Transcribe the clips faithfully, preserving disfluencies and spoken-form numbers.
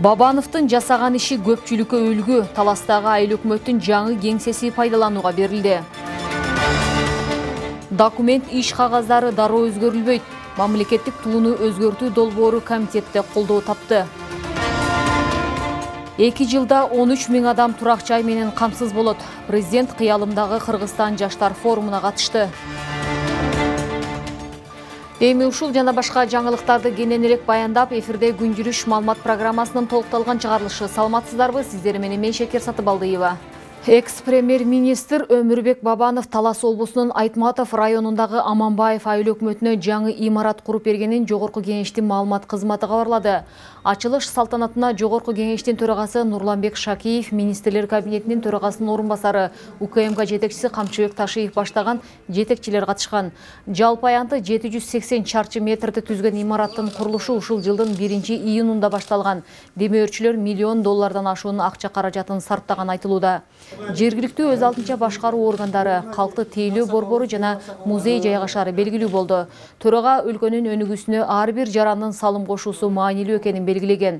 Бабановдун жасаган иши көпчүлүккө үлгү. Таластагы айыл өкмөттүн жаңы кеңсеси пайдаланууга берилди. Документ иш кагаздары дароо өзгөрүлбөйт. Мамлекеттик тууну өзгөртүү долбоору комитетте колдоо тапты. эки жылда он үч миң адам турак жай менен камсыз болот. Президент кыялымдагы Кыргызстан жаштар форумуна катышты. Эми ушул жана башка жаңылыктарды кенен элек баяндап, эфирде күн жүрүш маалымат программасынын толукталган чыгарылышы. Саламатсыздарбы? Сиздер менен мен Шекер Сатыбалдыева. Экс-премьер-министр Өмүрбек Бабанов Талас облусунун Айтматов районундагы Аманбаев айыл өкмөтүнө жаңы имарат куруп бергенин Жогорку кеңештин маалымат кызматы кабарлады. Ачылыш салтанатына Жогорку кеңештин төрагасы Нурланбек Шакиев, министрлер кабинетинин төрагасынын орун басары УКМК жетекчиси Камчыбек Ташиев баштаган жетекчилер катышкан. Жалпы аянты жети жүз сексен чарчы метрди түзгөн имараттын курулушу ушул жылдын биринчи июнунда башталган. Демөөрчүлөр миллион доллардан ашуун акча каражатын сарптаган айтылууда. Жергиликтүү өз алдынча башкаруу органдары, калкты тейлөө борбору жана музей жайгашаары белгилүү болду. Төрага өлкөнүн өнүгүүсүнө ар бир жарандын салым кошуусу маанилүү экенин белгилеген.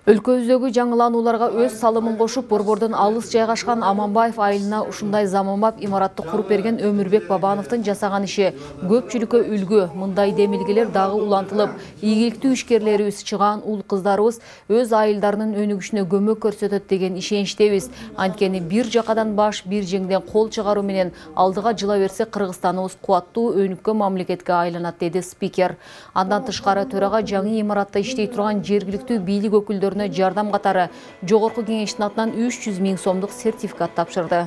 Өлкөбүздөгү жаңыланууларга өз салымын кошуп, борбордон алыс жайгашкан Аманбаев айылына ушундай заманбап имаратты куруп берген Өмүрбек Бабановдун жасаган иши көпчүлүккө үлгү. Мындай демилгелер дагы улантылып, ийгиликтүү ишкерлерибиз, чыгаан уул кыздарыбыз өз айылдарынын өнүгүшүнө көмөк көрсөтөт деген ишеничтебиз. Анткени бир жакадан баш, бир жеңден кол чыгаруу менен алдыга жыла берсе, Кыргызстаныбыз кубаттуу өнүккөн мамлекетке айланат, деди спикер. Андан тышкары төрага жаңы имаратта иштей турган жергиликтүү бийлик өкүлдөрүнө жардам катары Жогорку кеңештин атынан үч жүз миң сомдук сертификат тапшырды.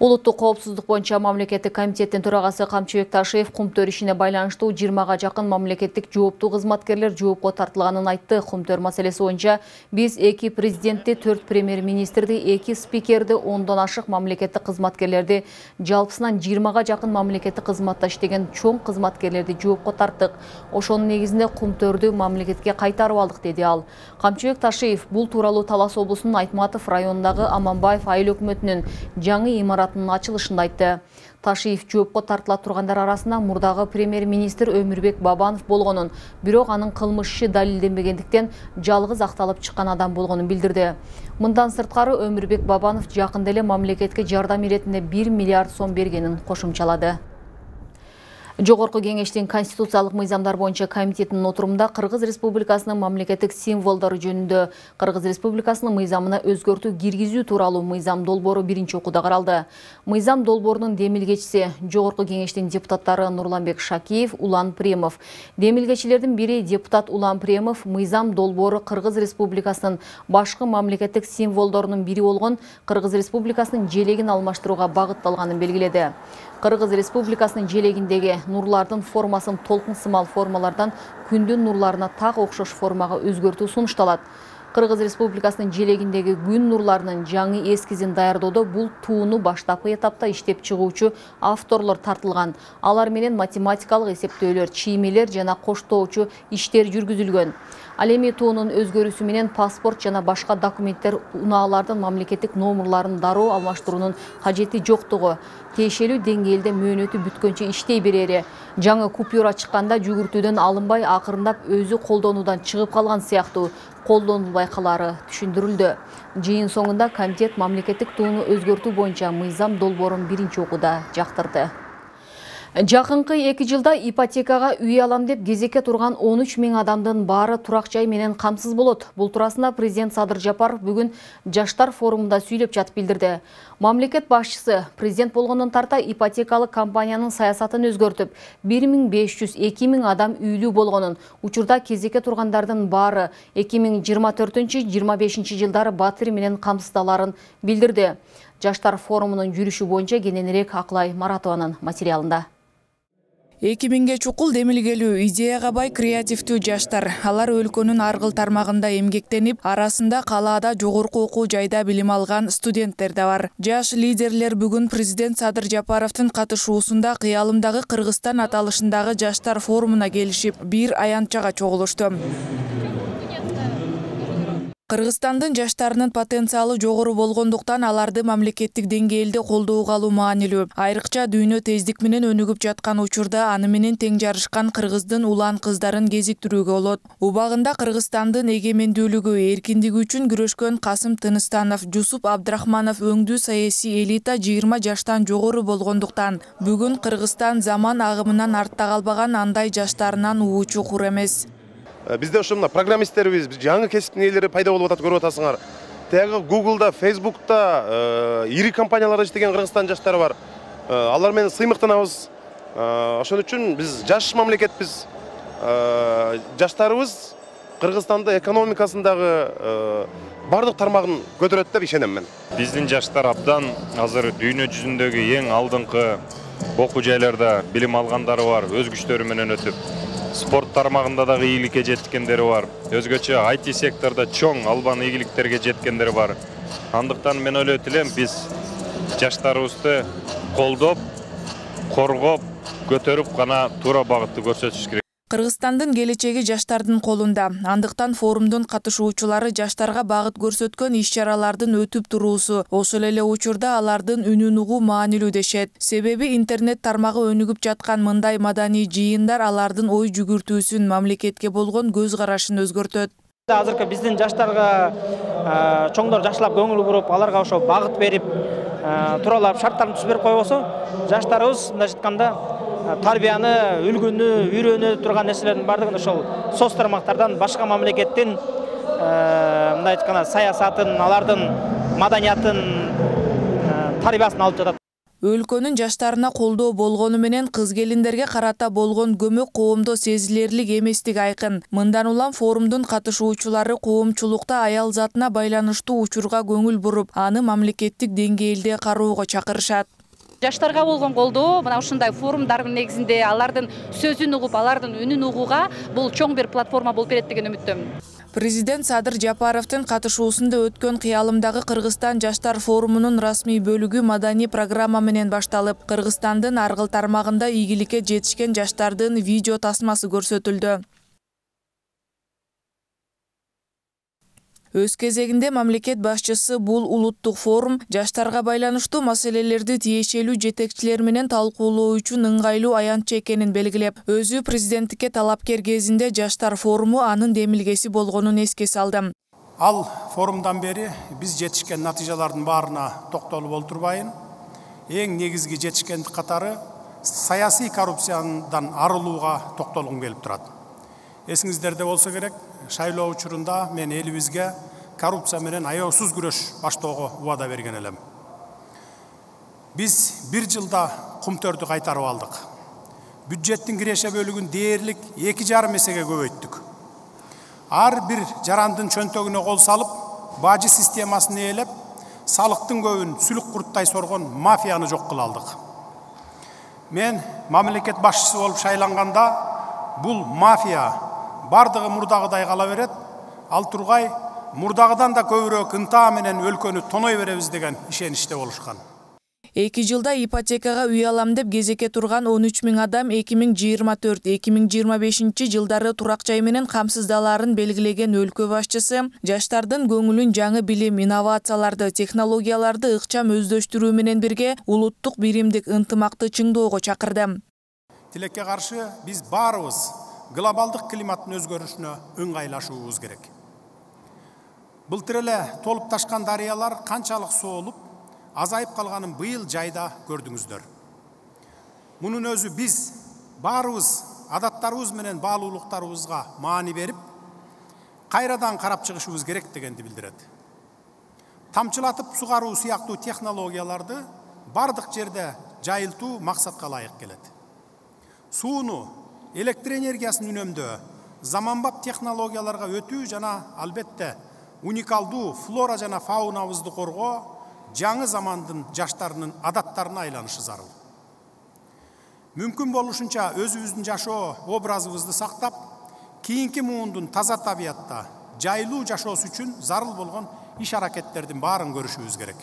Улуттук коопсуздук боюнча мамлекеттик комитеттин төрагасы Камчыбек Ташиев Кумтөр ишине байланыштуу жыйырмага жакын мамлекеттик жооптуу кызматкерлер жоопко тартылганын айтты. Кумтөр маселеси боюнча биз эки президентти, төрт премьер-министрди, эки спикерди, ондон ашык мамлекеттик кызматкерлерди, жалпысынан жыйырмага жакын мамлекеттик кызматта иштеген чоң кызматкерлерди жоопко тарттык. Ошонун негизинде Кумтөрдү мамлекетке кайтарып алдык, деди ал. Камчыбек Ташиев бул тууралуу Талас облусунун Айтматов районундагы Аманбаев айыл өкмөтүнүн жаңы имарат ачылышында айтты. Ташиев жоопко тартыла тургандар арасында мурдагы премьер-министр Өмүрбек Бабанов болгонун, бирок анын кылмыш иши далилденбегендиктен жалгыз акталып чыккан адам болгонун билдирди. Мындан сырткары Өмүрбек Бабанов жакында эле мамлекетке жардам иретинде бир миллиард сом бергенин кошумчалады. Жогорку кеңештин конституциялык мыйзамдар боюнча комитетинин отурумунда Кыргыз Республикасынын мамлекеттик символдору жөнүндө Кыргыз Республикасынын мыйзамына өзгөртүү киргизүү тууралуу мыйзам долбоору биринчи окууда каралды. Мыйзам долбоорунун демилгечиси Жогорку кеңештин депутаттары Нурланбек Шакиев, Улан Премов. Демилгечилердин бири депутат Улан Премов мыйзам долбоору Кыргыз Республикасынын башкы мамлекеттик символдорунун бири болгон Кыргыз Республикасынын желегин алмаштырууга багытталганын белгиледи. Кыргыз Республикасынын желегиндеги нурлардын формасын толкун сымал формалардан күндүн нурларына так окшош формага өзгөртүү сунушталат. Кыргыз Республикасынын желегиндеги күн нурларынын жаңы эскизин даярдоодо бул тууну баштапкы этапта иштеп чыгуучу авторлор тартылган. Алар менен математикалык эсептөөлөр, чиймелер жана коштоочу иштер жүргүзүлгөн. Ал эми туунун өзгөрүүсү менен паспорт жана башка документтер унаалардын мамлекеттик номерларын дароо алмаштыруунун кажети жоктугу, тиешелүү деңгээлде мөөнөтү бүткөнчө иштей берери, жаңы купюра чыкканда жүгүртүүдөн алынбай акырындап өзү колдонуудан чыгып калган сыяктуу колдонулбай калары түшүндүрүлдү. Жыйын соңунда комитет мамлекеттик тууну өзгөртүү боюнча мыйзам долбоорун биринчи окууда жактырды. Жакынкы эки жылда ипотекага үй алам деп кезекке турган он үч миң адамдын баары турак жай менен камсыз болот. Бул туурасында президент Садыр Жапаров бүгүн жаштар форумунда сүйлөп жатып билдирди. Мамлекет башчысы президент болгондон тарта ипотекалык компаниянын саясатын өзгөртүп, бир миң беш жүз эки миң адам үйлүү болгонун, учурда кезекке тургандардын баары эки миң жыйырма төртүнчү жыйырма бешинчи жылдары батир менен камсыздаларын билдирди. Жаштар форумунун жүрүшү боюнча кененирээк Акылай Маратованын материалында. эки миңге чукул демилгелүү, идеяга бай креативдүү жаштар. Алар өлкөнүн аргыл тармагында эмгектенип, арасында калаада жогорку окуу жайда билим алган студенттер да бар. Жаш лидерлер бүгүн президент Садыр Жапаровдун катышуусунда Кыялымдагы Кыргызстан аталышындагы жаштар форумуна келишип, бир аянтчага чогулушту. Кыргызстандын жаштарынын потенциалы жогору болгондуктан аларды мамлекеттик деңгээлде колдоого алуу маанилүү. Айрыкча дүйнө тездик менен өнүгүп жаткан учурда аны менен тең жарышкан кыргыздын улан кыздарын кезиктирүүгө болот. Убагында Кыргызстандын эгемендүүлүгү, эркиндиги үчүн күрөшкөн Касым Тыныстанов, Жусуп Абдрахманов өңдүү саясий элита жыйырма жаштан жогору болгондуктан бүгүн Кыргызстан заман агымынан артта калбаган андай жаштарынан уучу кур эмес. Бизде ошо мына программисттерибиз, жаңы кесиптин ээлери пайда болуп атат, көрүп атасыңар. Тагы Google'да, Facebook'та ири компанияларда иштеген Кыргызстан жаштары бар. Алар менен сыймыктанабыз. Ошон үчүн биз жаш мамлекетпиз. Жаштарыбыз Кыргызстандын экономикасындагы бардык тармагын көтөрөт деп ишенем мен. Биздин жаштар абдан азыр дүйнө жүзүндөгү эң алдыңкы окуу жайларда билим алгандары бар, өз күчтөрү менен өтүп. Спорт тармагында дагы ийгиликке жеткендери бар. Өзгөчө ай ти секторда чоң албан ийгиликтерге жеткендери бар. Андыктан мен ойлойт элем, биз жаштарыбызды колдоп, коргоп, көтөрүп гана туура багытты көрсөтүш керек. Кыргызстандын келечеги жаштардын колунда. Андыктан форумдун катышуучулары жаштарга багыт көрсөткөн иш-чаралардын өтүп туруусу, ошол эле учурда алардын үнүн угуу маанилүү дешет. Себеби интернет тармагы өнүгүп жаткан мындай маданий жыйындар алардын ой жүгүртүүсүн, мамлекетке болгон көз карашын өзгөртөт. Азыркы биздин жаштарга чоңдор жакшылап көңүл буруп, аларга ошо багыт берип, тууралап шарттарын түзүп берип койбосо, жаштарыбыз мындайча айтканда тарбияны, үлгүнү, үйрөнө турган нерселердин бардыгын ошол соц тармактардан башка мамлекеттин мындай айтканда саясатын, алардын маданиятын, тарбиясын алып жатат. Өлкөнүн жаштарына колдоо болгону менен кыз келиндерге карата болгон көмөк коомдо сезилерлик эместиги айкын. Мындан улам форумдун катышуучулары коомчулукта аял затына байланыштуу учурга көңүл буруп, аны мамлекеттик деңгээлде кароого чакырышат. Жаштарга болгон колдоо мына ушундай форумдардын негизинде алардын сөзүн угуп, алардын үнүн угууга бул чоң бир платформа болуп берет деген үмүттөмүн. Президент Садыр Жапаровдун катышуусунда өткөн Кыялымдагы Кыргызстан жаштар форумунун расмий бөлүгү маданий программа менен башталып, Кыргызстандын аргыл тармагында ийгиликке жетишкен жаштардын видео тасмасы көрсөтүлдү. Өз кезегинде мамлекет башчысы бул улуттук форум жаштарга байланыштуу маселелерди тиешелүү жетекчилер менен талкуулоо үчүн ыңгайлуу аянтча экенин белгилеп, өзү президенттикке талапкер кезинде жаштар форуму анын демилгеси болгонун эске салды. Ал форумдан бери биз жетишкен натыйжалардын баарына токтолуп олтурбайын. Эң негизги жетишкендик катары саясий коррупциядан арылууга токтолгум келип турат. Эсиңиздерде болсо керек, шайлоо учурунда мен элибизге коррупция менен аеосуз күрөш баштоого убада берген элем. Биз бир жылда кумтөрдү кайтарып алдык. Бюджеттин киреше бөлүгүн дээрлик эки жарым эсеге көбөйттүк. Ар бир жарандын чөнтөгүнө кол салып, бажы системасын ээлеп, салыктын көбүн сүлүк курттай соргон мафияны жок кыла алдык. Мен мамлекет башчысы болуп шайланганда бул мафия бардыгы мурдагыдай кала берет, ал тургай мурдагыдан да көбүрөөк ынтаа менен өлкөнү тоной беребиз деген ишеничте болушкан. Эки жылда ипотекага үй алам деп кезекке турган он үч миң адам эки миң жыйырма төрт эки миң жыйырма бешинчи жылдары турак жай менен камсыздалаарын белгилеген өлкө башчысы жаштардын көңүлүн жаңы билим, инновацияларды, технологияларды ыкчам өздөштүрүү менен бирге улуттук биримдик ынтымакты чыңдоого чакырды. Тилекке каршы биз баарыбыз глобалдык климаттын өзгөрүшүнө ыңгайлашуубуз керек. Былтыр эле толуп ташкан дарыялар канчалык соолуп, азайып калганын быйыл жайда көрдүңүздөр. Мунун өзү биз баарыбыз адаттарыбыз менен баалуулуктарыбызга маани берип, кайрадан карап чыгышыбыз керек дегенди билдирет. Тамчылатып сугаруу сыяктуу технологияларды бардык жерде жайылтуу максатка ылайык келет. Сууну, электр энергиясын үнөмдөө, заманбап технологияларга өтүү жана албетте уникалдуу флора жана фаунабызды коргоо жаңы замандын жаштарынын адаттарына айланышы зарыл. мүмкүн болушунча өзүбүздүн жашоо образыбызды сактап, кийинки муундун таза табиятта жайлуу жашоосу үчүн зарыл болгон иш-аракеттердин баарын көрүшүбүз керек.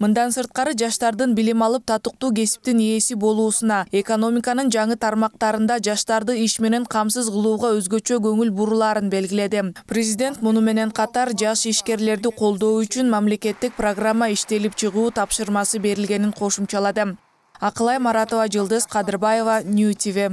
Мындан сырткары жаштардын билим алып татыктуу кесиптин ээси болуусуна, экономиканын жаңы тармактарында жаштарды иш менен камсыз кылууга өзгөчө көңүл бурулаарын белгиледи. Президент муну менен катар жаш ишкерлерди колдоо үчүн мамлекеттик программа иштелип чыгуу тапшырмасы берилгенин кошумчалады. Акылай Маратова, Жылдыз Кадырбаева, Нью ти ви.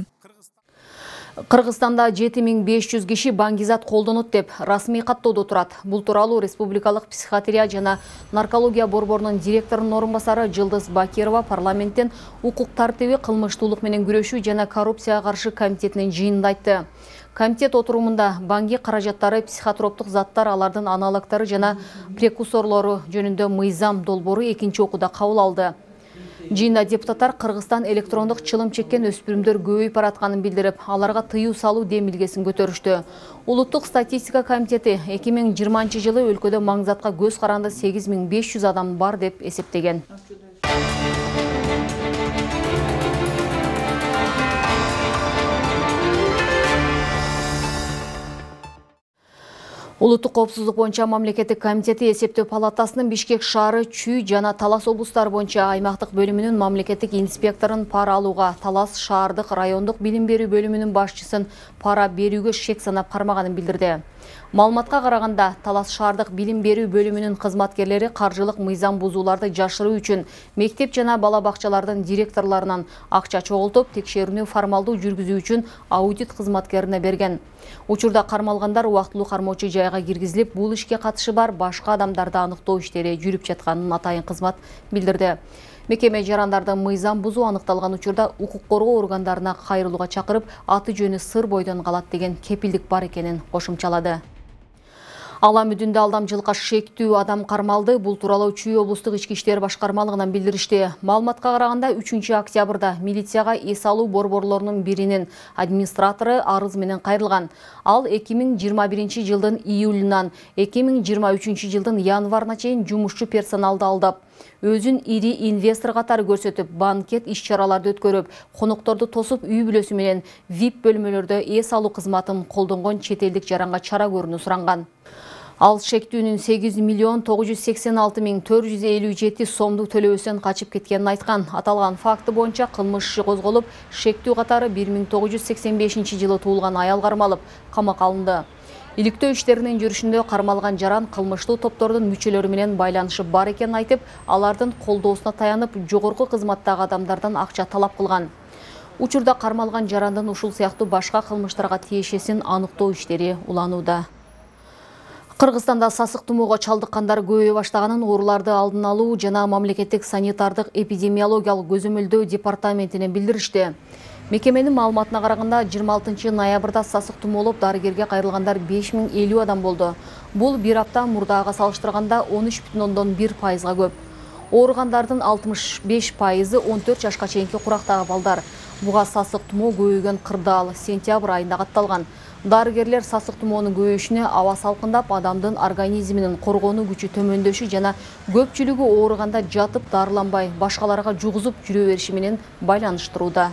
Кыргызстанда жети миң беш жүз киши баңгизат колдонот деп расмий каттоодо турат. Бул тууралуу Республикалык психиатрия жана наркология борборунун директорунун орун басары Жылдыз Бакирова парламенттен укук тартиби, кылмыштуулук менен күрөшүү жана коррупцияга каршы комитетинин жыйынында айтты. Комитет отурумунда баңги каражаттары, психотроптук заттар, алардын аналогдору жана прекурсорлору жөнүндө мыйзам долбоору экинчи окууда кабыл алды. Жыйында депутаттар Кыргызстан электрондук чылым чеккен өспүрүмдөр көбөйүп баратканын билдирип, аларга тыюу салуу демилгесин көтөрүштү. Улуттук статистика комитети эки миң жыйырманчы жылы өлкөдө маңзатка көз каранды сегиз миң беш жүз адам бар деп эсептеген. Улуттук коопсуздук боюнча мамлекеттик комитети эсептөө палатасынын Бишкек шаары, Чүй жана Талас облустары боюнча аймактык бөлүмүнүн мамлекеттик инспекторун пара алууга, Талас шаардык райондук билим берүү бөлүмүнүн башчысын пара берүүгө шек санап кармаганын билдирди. Маалыматка караганда, Талас шаардык билим берүү бөлүмүнүн кызматкерлери каржылык мыйзам бузууларды жашыруу үчүн мектеп жана бала бакчалардын директорлорунан акча чогултуп, текшерүүнү формалдуу жүргүзүү үчүн аудит кызматкерине берген. Учурда кармалгандар убактылуу кармоочу жайга киргизилип, бул ишке катышы бар башка адамдарды аныктоо иштери жүрүп жатканын атайын кызмат билдирди. Мекеме жарандардын мыйзам бузуу аныкталган учурда укук коргоо органдарына кайрылууга чакырып, аты жөнү сыр бойдон калат деген кепилдик бар экенин кошумчалады. Ала мүдүндө алдамчылыкка шектүү адам кармалды. Бул тууралуу Чүй облустук ички иштер башкармалыгынан билдиришти. Маалыматка караганда үчүнчү октябрда милицияга эс алуу борборлорунун биринин администратору арыз менен кайрылган. Ал эки миң жыйырма биринчи жылдын июлунан эки миң жыйырма үчүнчү жылдын январына чейин жумушчу персоналды алдап, өзүн ири инвестор катары көрсөтүп, банкет иш-чараларды өткөрүп, конокторду тосуп, үй бүлөсү менен ви ай пи бөлмөлөрдө эс алуу кызматын колдонгон чет элдик жаранга чара көрүүнү суранган. Ал шектүүнүн сегиз миллион тогуз жүз сексен алты миң төрт жүз элүү жети сомду төлөөсүн качып кеткенин айткан. Аталган факты боюнча кылмыш иши козголуп, шектүү катары бир миң тогуз жүз сексен бешинчи жылы туулган аял кармалып, камакка алынды. Иликтөө иштеринин жүрүшүндө кармалган жаран кылмыштуу топтордун мүчөлөрү менен байланышы бар экенин айтып, алардын колдоосуна таянып, жогорку кызматтагы адамдардан акча талап кылган. Учурда кармалган жарандын ушул сыяктуу башка кылмыштарга тиешесин аныктоо иштери уланууда. Кыргызстанда сасык тумоого чалдыккандар көбөйө баштаганын ооруларды алдын алуу жана мамлекеттик санитардык эпидемиологиялык көзөмөлдөө департаментинен билдиришти. Мекеменин маалыматына караганда, жыйырма алтынчы ноябрда сасык тумоолоп дарыгерге кайрылгандар беш миң элүү адам болду. Бул бир апта мурдага салыштырганда он үч бүтүн ондон бир пайызга көп. Ооругандардын алтымыш беш пайызы он төрт жашка чейинки курактагы балдар. Буга сасык тумоо көбөйгөн кырдаал сентябрь айында катталган. Дарыгерлер сасык тумоонун көбөйүшүнө аба салкындап, адамдын организминин коргонуу күчү төмөндөшү жана көпчүлүгү ооруганда жатып дарыланбай, башкаларга жугузуп жүрө бериши менен байланыштырууда.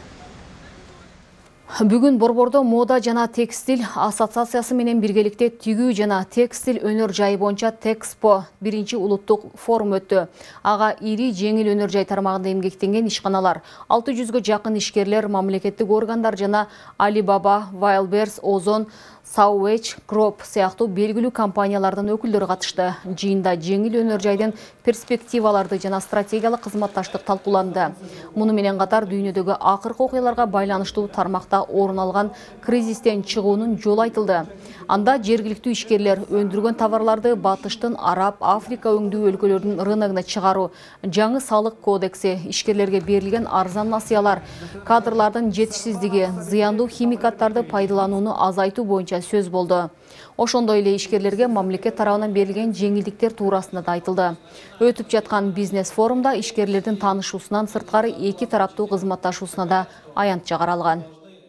Бүгүн Борбордо мода жана текстиль ассоциациясы менен биргеликте тигүү жана текстиль өнөр жайы боюнча Тэкспо биринчи улуттук форум өттү. Ага ири жеңил өнөр жай тармагында эмгектенген ишканалар, алты жүзгө жакын ишкерлер, мамлекеттик органдар жана Alibaba, Wildberries, Ozon, Sauwage Group сыяктуу белгилүү компаниялардын өкүлдөрү катышты. Жыйында жеңил өнөр жайдын перспективаларды жана стратегиялык кызматташтык талкууланды. Муну менен катар дүйнөдөгү акыркы окуяларга байланыштуу тармакта орун алган кризистен чыгуунун жолу айтылды. Анда жергиликтүү ишкерлер өндүргөн товарларды батыштын Араб, Африка өңдүү өлкөлөрдүн рыногуна чыгаруу, жаңы салык кодекси, ишкерлерге берилген арзан насыялар, кадрлардын жетишсиздиги, зыяндуу химикаттарды пайдаланууну азайтуу боюнча сөз болду. Ошондой эле ишкерлерге мамлекет тарабынан берилген жеңилдиктер туурасында да айтылды. Өтүп жаткан бизнес форумда ишкерлердин таанышуусунан сырткары эки тараптуу кызматташуусуна да аянтча каралган.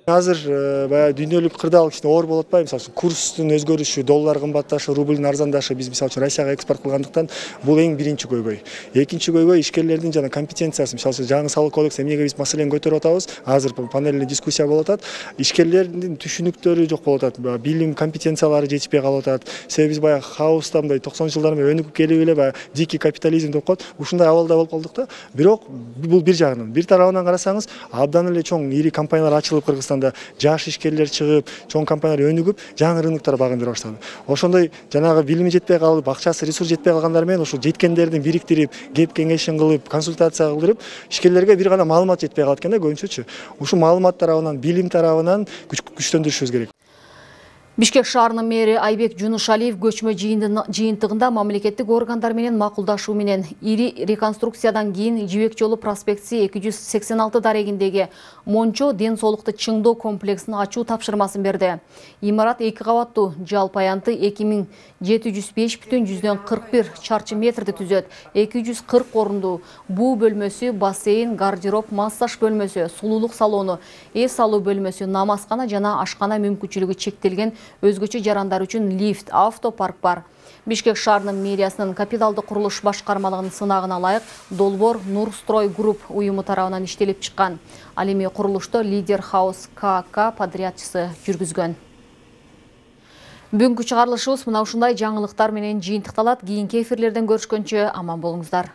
Азыр баягы дүйнөлүк кырдаал кичине оор болуп атпайбы? Мисалы үчүн курстун өзгөрүшү, доллар кымбатташы, рублдун арзандашы биз мисалы үчүн Россияга экспорт кылгандыктан бул эң биринчи көйгөй. Экинчи көйгөй ишкерлердин жана компетенциясы. Мисалы үчүн жаңы салык кодекс эмнеге биз маселени көтөрүп атабыз? Азыр панельный дискуссия болуп атат. Ишкерлердин түшүнүктөрү жок болуп атат. Билим, компетенциялары жетишпей калып атат. Себеби биз баягы хаоста мындай токсонунчу жылдар менен өнүгүп келип эле баягы дикий капитализм деп коет. Ушундай абалда болуп калдык да. Бирок бул бир жагынан, бир тарабынан карасаңыз, абдан эле чоң ири компаниялар ачылып Кыргызстанда, жаш ишкерлер чыгып, чоң компаниялар өнүгүп, жаңы рыноктор багындыра баштады. Ошондой жанагы билими жетпей калып, акчасы, ресурс жетпей калгандар менен ушул жеткендердин бириктирип, кеп кеңешин кылып, консультация кылдырып, ишкерлерге бир гана маалымат жетпей калат экен да көбүнчөчү. Ушул маалымат тарабынан, билим тарабынан күчтөндүрүшүбүз керек. Бишкек шаарынын мэри Айбек Жунушалиев көчмө жыйынтыгында мамлекеттик органдар менен макулдашуу менен ири реконструкциядан кийин Жибек жолу проспекти эки жүз сексен алты дарегиндеги Мончо ден соолукту чыңдоо комплексин ачуу тапшырмасын берди. Имарат эки кабаттуу, жалпы аянты эки миң жети жүз беш бүтүн жүздөн кырк бир чарчы метрди түзөт. эки жүз кырк орундуу буу бөлмөсү, бассейн, гардероб, массаж бөлмөсү, сулуулук салону, эс алуу бөлмөсү, намазкана жана ашкана мүмкүнчүлүгү чектелген өзгөчө жарандар үчүн лифт, автопарк бар. Бишкек шаарынын мэриясынын капиталдык курулуш башкармалыгынын сынагына ылайык долбоор Нурстрой групп уюму тарабынан иштелип чыккан. Ал эми курулушто Лидер Хаус КК подрядчысы жүргүзгөн. Бүгүнкү чыгарылышыбыз мына ушундай жаңылыктар менен жыйынтыкталат. Кийинки эфирлерден көрүшкөнчө аман болуңуздар.